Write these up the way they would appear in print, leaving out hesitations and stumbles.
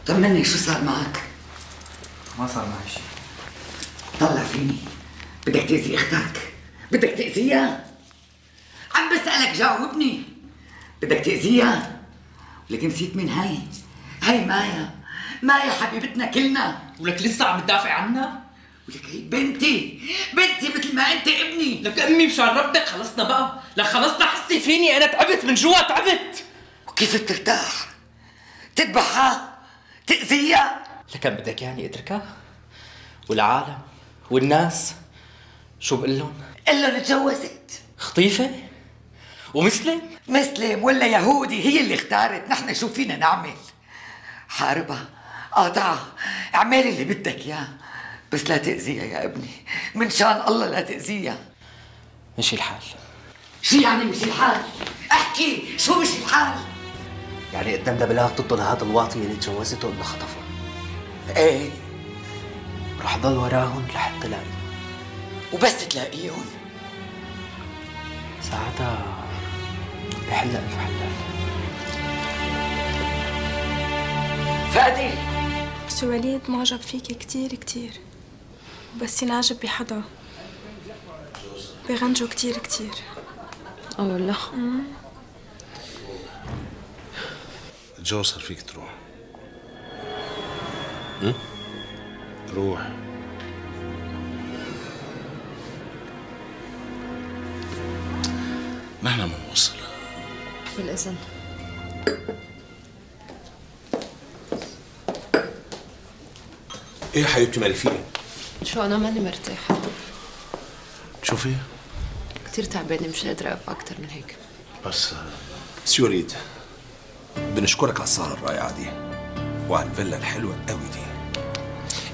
طمني شو صار معك؟ ما صار معي شيء. طلع فيني. بدك تأذي اختك؟ بدك تأذيها؟ عم بسألك جاوبني. بدك تأذيها؟ ولك نسيت مين هي؟ هي مايا. مايا حبيبتنا كلنا. ولك لسه عم تدافع عنها؟ ولك هي بنتي مثل ما انت ابني. لك امي مشان ربك خلصنا بقى. لك خلصنا، حسي فيني انا تعبت من جوا، تعبت. وكيف بترتاح؟ تذبحها؟ تأذيها؟ لكن بدك يعني اتركها؟ والعالم والناس شو بقول لهم؟ قل لهم اتجوزت. خطيفة؟ ومسلم؟ مسلم ولا يهودي هي اللي اختارت، نحن شو فينا نعمل؟ حاربها، قاطعها، اعملي اللي بدك اياه، بس لا تأذيها يا ابني، من شان الله لا تأذيها. مشي الحال. شو يعني مشي الحال؟ احكي، شو مشي الحال؟ يعني قدام بلاغ ضد هذا الواطي اللي تجوزته انه خطفه. ايه، رح ضل وراهم لحتى لاقيهم. وبس تلاقيهم ساعتها بحل ألف حلال. فادي، سو وليد معجب فيكي كتير كتير، بس ينعجب بحدا بغنجو كتير كتير. والله. جو صار فيك تروح. روح. نحن بنوصل. بالإذن. ايه حبيبتي مالك فيني؟ شو أنا ماني مرتاحة. شوفي كتير تعبانة، مش قادرة أبقى أكتر من هيك. بس سي وليد، بنشكرك على السهرة الرائعة دي وعلى الفيلا الحلوة قوي دي.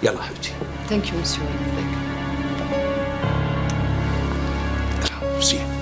يلا حبيبتي. ثانك يو مسيو. ميرسي.